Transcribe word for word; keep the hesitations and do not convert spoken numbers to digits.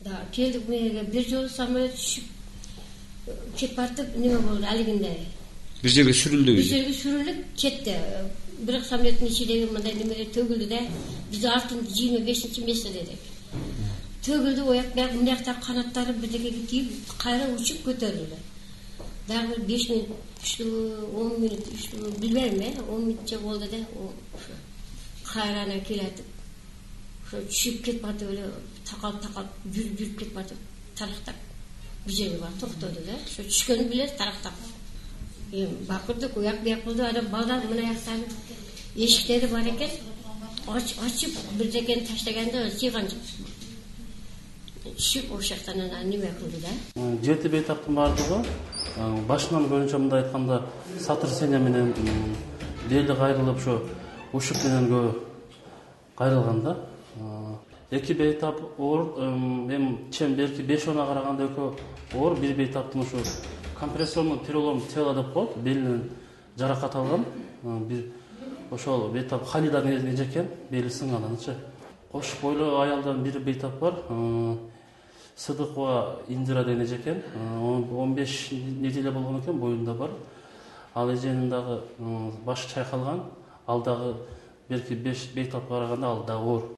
Да, келдик мээге бир жолу самолет түшүп кетип бартып неме болду алигинде. Бир жерге сүрүлдү. Бир жерге сүрүлүп кетти. Бирок самолеттин ичидеги мындай немелер төгүлдү да. Биз артын жыйырма бешинчи место дедик. Төгүлдү, ояк бияк мындактар канаттары бирдекеге тийип, кайра учуп көтөрүлдү. Дагы бир беш мүнөт, он мүнөт, билбейм, э, он мүнөтчө болду да, ошо кайра анан келатып, ошо түшүп кетип атып эле такалып-такалып жүрүп жүрүп кетип атып, тарактап бир жерге барып токтоду да. Ошо түшкөнүн билер тарактап. Эми бакырдык, уяк бияк болду, анан балдар мына жактан эшиктери бар экен, ачып бирдекени таштаганда сыйган жок. Түшүп ошол жактан анан неме кылды да. Жети бейтаптын бардыгы башынан көбүнчө мындай айтканда сотрясение менен бели кайрылып ошо ушук менен көбү кайрылган да. Эки бейтап оор, эми чем белки беш она караганда экөө оор, бир бейтаптын ушу компрессионный перелом тела деп коет, белинен жаракат алган. Бир ошол бейтап Халида эжекен, бели сынганычы. Кош бойлуу аялдан бир бейтап бар. Сыдыкова Индира деген эжекен, он беш неделе болгон экен, боюнда бар. Ал эженин дагы башы чайкалган, ал дагы белки беш бейтапка караганда ал дагы оор.